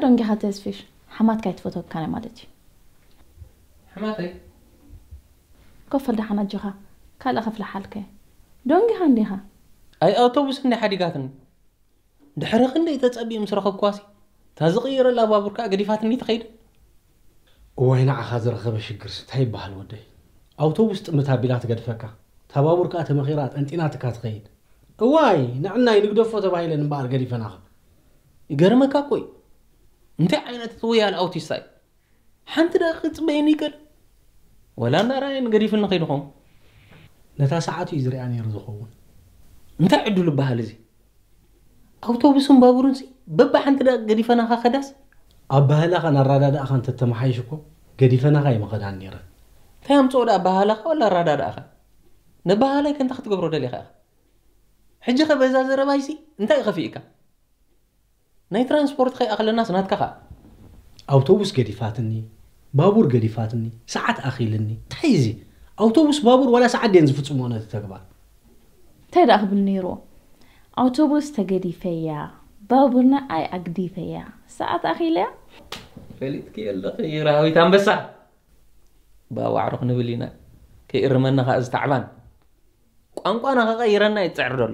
ደንጊኻ ተስፊሽ፣ ሓማትካ ኣይትፈትወካን ማለት እዩ። ሓማተይ ኮፈል ደሓን ኣጆኻ፣ ካልእ ከፍልሓልከ። ደንጊኻ እንዲኻ። ኣይ ኣውቶቡስ እንዲ ሓዲጋትኒ። ድሕሪ ክንደይ ተጸቢእ ምስ ረኸብኳሲ፣ እታ ዝቕይረላ ባቡር ከኣ ገዲፋትኒ ትኸይድ። እዋይ ንዓኻ ዝረኸበ ሽግርስ እንታይ ይበሃል ወደይ? ኣውቶቡስ ጥምት ኣቢላ ትገድፈካ፣ እታ ባቡር ከኣ ተመኺራ ጠንጢናትካ ትኸይድ። እዋይ ንዕናይ ንግደፎ ተባሂለን እምበኣር ገዲፈናኻ። ይገርመካ እኮ እዩ። እንታይ ዓይነት እቲ ወያል ኣውቲስታ እዩ? ሓንቲ ደቂ ክጽበየኒ ይቀል። ወላ እንዳረኣየን ገዲፍኒ ከይድኹም። ነታ ሰዓቱ እዩ ዝሪኣ ነይሩ ዝኸውን። እንታይ ዕድሉ በሃል እዚ? ኣውቶቡስን ባቡርን ሲ በባ ሓንቲ ደቂ ገዲፈናኻ ከዳስ። ኣባህላኻን ኣራዳዳእኻን ተተመሓይሽ እኮ ገዲፈናኻ ይመኸዳን ነይረን። እንታይ ኣምፅኦ ደኣ ኣባህላኻ ወላ ኣራዳዳእኻ? ነባህላይ ከንታ ክትገብሮ ደሊኻ ኢኻ። ሕጂ ኸ በዛ ዘረባይሲ እንታይ እዩ ከፊእካ? ናይ ትራንስፖርት ከይኣኽለናስ ናትካ ኸኣ። ኣውቶቡስ ገዲፋትኒ፣ ባቡር ገዲፋትኒ፣ ሰዓት ኣኺልኒ። እንታይ እዚ? ኣውቶቡስ ባቡር ዋላ ሰዓት ድየን ዝፍጽምኦ ነቲ ተግባር? እንታይ ደኣ ክብል ነይርዎ? ኣውቶቡስ ተገዲፈያ፣ ባቡር ንዓይ ኣግዲፈያ፣ ሰዓት ኣኺለያ። ፈሊጥኪ ኣለኺ ራሃዊት ኣንበሳ። ባዋዕሮ ክንብል ኢና። ከይእርመና ኸኣ እዚ ታዕባን። ቋንቋና ከቐይረና እዩ ዝጽዕር ዘሎ።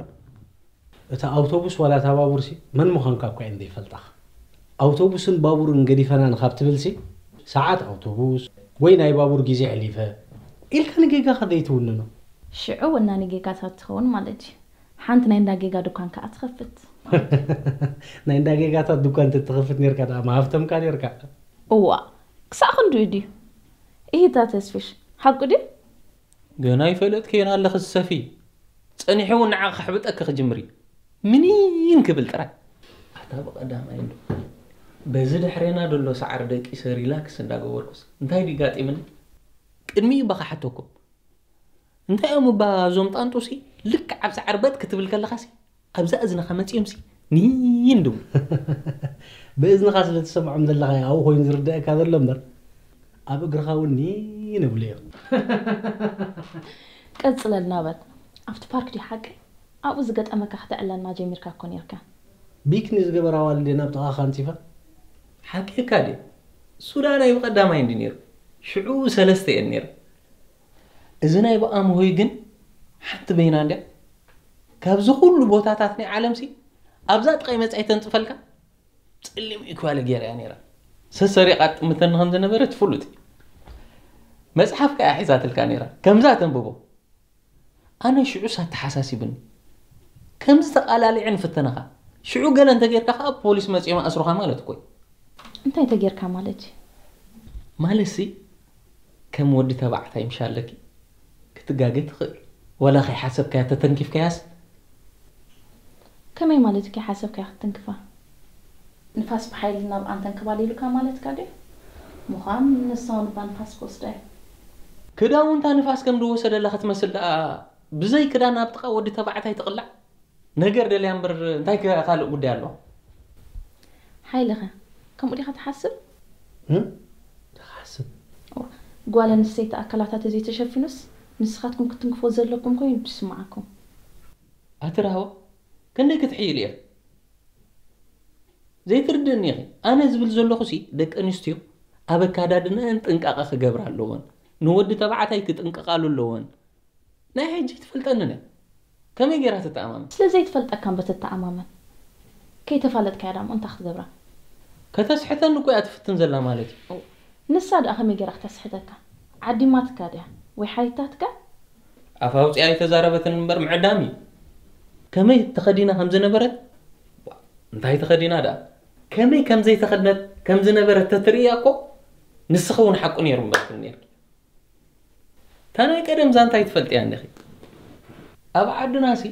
እታ ኣውቶቡስ ዋላ እታ ባቡርሲ መን ምዃንካ እኳ እየን ዘይፈልጣኻ። ኣውቶቡስን ባቡርን ገዲፈናን ካብ ትብልሲ ሰዓት ኣውቶቡስ ወይ ናይ ባቡር ግዜ ኣሕሊፈ ኢልካ ንጌጋኻ ዘይትውንኖ። ሽዑ ወናኒ ጌጋታት ትኸውን ማለት እዩ። ሓንቲ ናይ እንዳ ጌጋ ድኳን ከኣ ትኸፍት። ናይ እንዳ ጌጋታት ድኳን እንተትኸፍት ነርካ ደኣ ምሃብተምካ ነርካ። እዋ ክሳዕ ክንድኡ ድዩ? ኢሂታ ተስፍሽ ሓቁ ድዩ? ገና ይፈለጥክየን ኣለኺ ዝሰፊ። ጸኒሑ እውን ንዓኺ ከሕብጠኪ ክጅምር እዩ። ምኒን ክብል ጥራይ። ኣታ ብቐዳማይ እንዶ በዚ ድሕሬና ደሎ ሳዕሪ ደቂሰ ሪላክስ እንዳገበርኩስ እንታይ ድዩ ጋጢምኒ? ቅድሚኡ እባ ክሓተኩም። እንታይ እዮም እባ እዞም ጣንጡሲ ልክዕ ኣብ ሳዕሪ በጥ ክትብል ከለኻሲ ኣብዛ እዝንኻ መጺኦምሲ ኒን ድቡ። ብእዝንኻ ስለ ትሰምዖም ዘለኻ እዩ ኣብኡ ኮይኑ ዝርደኣካ ዘሎ እምበር ኣብ እግርኻ እውን ኒን እብሉ እዮም። ቀጽለልና በል ኣብቲ ፓርክ ድዩ ሓቀይ ኣብኡ ዝገጠመካ ክተዕለልና ጀሚርካ እኮ ኔርካ። ቢክኒ ዝገበራ ኣዋልድ እየን ኣብ ጥቓኻ ኣንጺፈን። ሓቅካ ድየ? ሱዳናይ ብቐዳማይ እንዲ ነይሩ ሽዑ ሰለስተ እየን ነይሩ። እዚ ናይ ብኣምሆይ ግን ሓንቲ በይና እንድያ ካብዚ ኩሉ ቦታታት ናይ ዓለምሲ ኣብዛ ጥቓይ መጻይ ተንጽፈልካ። ጸሊም ኢኳለ ገይራ እያ ነይራ። ሰሰሪቓ ትጥምተኒ ከም ዝነበረት ፍሉጥ እዩ። መጽሓፍ ከኣ ሒዛትልካ ነይራ። ከምዛ ተንብቦ። ኣነ ሽዑስ ኣተሓሳሲብኒ። ከምዚ ተቓላሊዐ ንፍተነኻ። ሽዑ ገለ እንተጌርካ ከኣ ፖሊስ መጺኦም ኣስሩኻ ማለት እኮ እዩ። እንታይ ተጌርካ ማለት እዩ? ማለትሲ ከም ወዲ ተባዕታይ ምሽ ኣለኪ ክትጋገ ትኽእል። ወላ ከይሓሰብካያ ተተንኪፍካያስ ከመይ ማለት ከይሓሰብካያ ክትትንክፋ? ንፋስ ብሓይሊ ናብ ኣንተን ክባል ኢሉካ ማለትካ ድዩ? ምዃን ንሳ እውን እባ ንፋስ ክወስዳ እዩ። ክዳውንታ ንፋስ ከም ዝወሰደላ ክትመስል ደኣ ብዘይ ክዳን ኣብ ጥቓ ወዲ ተባዕታይ ትቕላዕ? ነገር ደልያ እምበር እንታይ ከ ካልእ ጉዳይ ኣለዋ? ሓይልኸ ከምኡ ዲኻ ትሓስብ? እም? ትሓስብ። ጓል ኣንስተይቲ ኣካላታ ተዘይተሸፊኑስ ንስኻትኩም ክትትንክፎ ዘለኩም ኮይኑ ድስምዓኩም። ኣቲ ራህዋ ክንደይ ክትሕይል እየ ዘይትርድእኒ ኢኺ ኣነ ዝብል ዘለኹሲ ደቂ ኣንስትዮ ኣብ ኣካዳድነአን ጥንቃቐ ክገብራ ኣለወን ንወዲ ተባዕታይ ክጥንቀቓሉ ኣለወን ናይ ሕጂ ትፈልጠንን እያ ከመይ ገይራ ትተኣማመን ስለ ዘይትፈልጠካ እምበር ትተኣማመን ከይተፋለጥካያ ዳሞ እንታይ ክትገብራ ከተስሕተኒ እኮ እያ ትፍትን ዘላ ማለት እዩ ንሳ ደኣ ከመይ ገይራ ክተስሕተካ ዓዲማትካ ድያ ወይ ሓቲታትካ ኣፍ ኣውፂኣ ኣይተዛረበትን እምበር ምዕዳም እዩ ከመይ ተኸዲና ከም ዝነበረት እንታይ ተኸዲና ደኣ ከመይ ከም ዘይተኸድነት ከም ዝነበረት ተትርእያ እኮ ንስኺ እውን ሓቁ ነይሩ ምበልክን ነይርኪ እታ ናይ ቀደም ዛንታ ኣይትፈልጥያ እንዲኺ ኣብ ዓድናሲ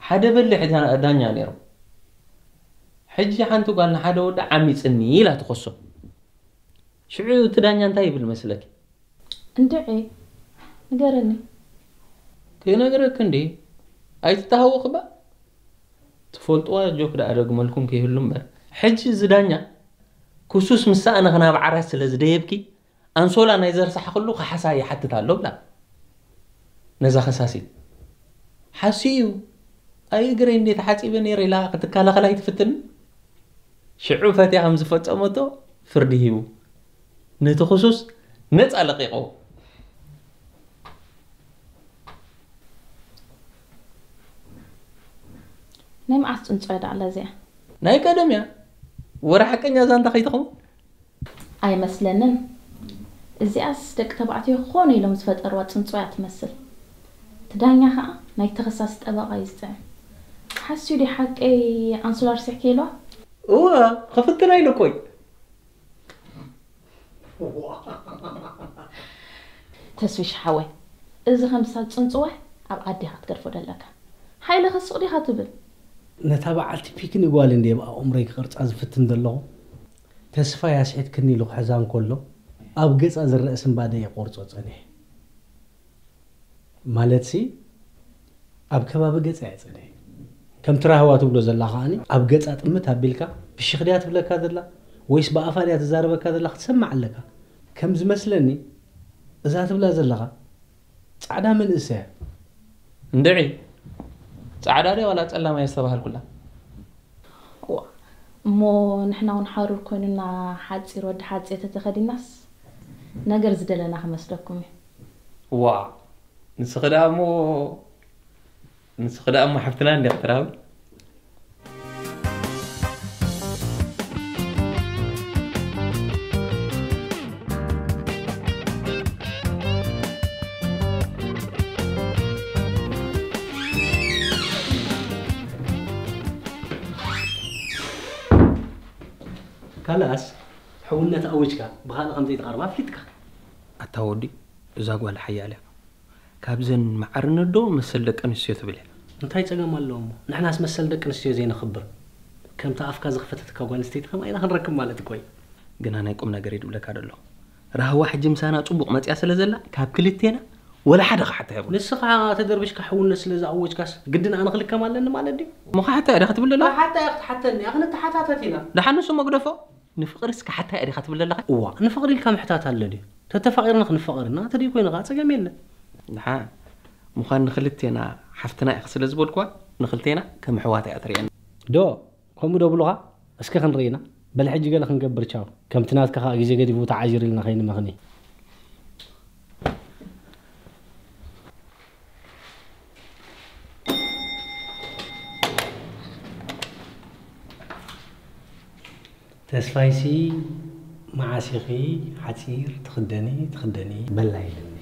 ሓደ በሊሕ ዳኛ ነይሮም ሕጂ ሓንቲ ጓል ንሓደ ወዲ ዓሚፅኒ ኢላ ትኸሶ ሽዑ እቲ ዳኛ እንታይ ይብል መስለኪ እንድዒ ንገረኒ ክነግረኪ እንዲ ኣይትተሃወኺ ባ ትፈልጥዋ ጆክ ደኣ ደግመልኩም ከይህሉ እምበር ሕጂ እዚ ዳኛ ክሱስ ምስ ሰኣነ ክናብ ዓራት ስለ ዝደየብኪ ኣንሶላ ናይ ዘርሳሕኽሉ ካሕሳ ይሓትት ኣሎ ብላ ነዛ ከሳሲት ሓስዩ እዩ ኣይ እግረይ እንዴ ተሓፂበ ነይረ ኢላ ክትከላኸል ኣይትፍትን ሽዑ ፈትያ ከም ዝፈጸመቶ ፍርዲ ሂቡ፣ ነቲ ክሱስ ነጻ ለቒቑ። ናይ መዓስ ጽንጾ እያ ደኣ እዚኣ? ናይ ቀደም እያ። ወረ ሓቀኛ ዛንታ ከይትኸውን? ኣይመስለንን። እዚኣስ ደቂ ተባዕትዮ ኾነ ኢሎም ዝፈጠርዋ ጽንጾ እያ ትመስል። እቲ ዳኛ ኸኣ ናይ ተኸሳሲ ጠበቓ እዩ ዝጥዕም። ሓስዩ ድዩ ሓቀይ ኣንሶላ ርስሕኪ ኢልዋ? እወ፣ ክፍትና ኢሉ እኮ እዩ። ተስፊሽ ሓወይ፣ እዚ ከምሳ ጽንጽዋይ ኣብ ዓዲ ኢኻ ትገድፎ ደለካ። ሓይለ ከስቕ ዲኻ ትብል? ነታ በዓልቲ ፒክኒ ጓል እንድየ ኣብ ኣእምሮይ ክቕርጻ ዝፍትን ዘለኹ። ተስፋይ ኣስሒትክኒ ኢሉ ክሕዛ እንከሎ ኣብ ገጻ ዝረአ ስንባደ እየ ክቖርጾ ጸኒሐ። ማለትሲ ኣብ ከባቢ ገጻ እየ ጸኒሐ። ከምቲ ራህዋ ትብሎ ዘላ ከኣኒ ኣብ ገጻ ጥምት ኣቢልካ ብሽኽ ድያ ትብለካ ዘላ ወይስ ብኣፋ ድያ ትዛረበካ ዘላ ክትሰምዕ ኣለካ። ከም ዝመስለኒ እዛ ትብላ ዘለኻ ጻዕዳ መንእሰያ። እንድዒ፣ ጻዕዳ ድያ ዋላ ጸላም እየ ዝተባሃልኩላ? እሞ ንሕና እውን ሓሩር ኮይኑና ሓጺር ወዲ ሓጺር ተተኸዲናስ ነገር ዝደለና ክመስለኩም እዩ። ዋ፣ ንስኺ ደኣ እሞ ንስኺ ደኣ እሞ ሓፍትና እንዲኺ ትራዊ። ካልኣስ ሕውነት ኣዊጅካ ብኻልእ ከም ዘይትቐርባ ኣፍሊጥካ። ኣታ ወዲ፣ እዛ ጓል ሓያል እያ። ካብዘን መዓርነት ዶ መሰል ደቂ ኣንስትዮ ትብል እያ? እንታይ ጸገም ኣለዎ እሞ? ንሕናስ መሰል ደቂ ኣንስትዮ ዘይነኽብር? ከምታ ኣፍካ ዝኸፈተትካ ጓል ኣንስተይቲ ከምኣ ኢና ክንረክብ ማለት እኮ እዩ። ግና ናይ ቁም ነገር እዩ ድብለካ ደሎ። ራህዋ ሕጂ ምሳና ጽቡቕ መጽያ ስለ ዘላ ካብ ክልቴና ወላ ሓደ ክሓታ የብሉ። ንስኻ ተደርቢሽካ ሕውነት ስለ ዝኣወጅካስ ግድን ኣነ ክልከም ኣለኒ ማለት ድዩ? እሞ ክሓታ እያ ዲኻ ትብል ዘለኻ? ክሓታ እያ ክትሓተኒ እያ፣ ክንተሓታተት ኢና። ደሓን ንሱ እሞ ግደፎ። ንፍቕርስ ክሓታ እያ ዲኻ ትብል ዘለኻ? እዋ፣ ንፍቕሪ ኢልካ ምሕታት ኣሎ ድዩ? ተተፋቒርና ክንፋቐር ኢና፣ እንተ ደይኮይኑ ኸዓ ጸገም የለን። ደሓን ምዃን ንኽልቴና ሓፍትና ኢኺ ስለ ዝበልኩዋ ንኽልቴና ከም ኣሕዋት እያ ትርእየና። ዶ ከምኡ ዶ ብሉኻ? እስከ ክንርኢ ኢና። በል ሕጂ ገለ ክንገብር ቻው። ከምቲ ናትካ ኸኣ ግዜ ገዲፉ ተዓዚር ኢልና ከይንመኽኒ። ተስፋይሲ መዓስ ኢኺ ሓጺር ትኽደኒ ትኽደኒ በላ ኢለኒ።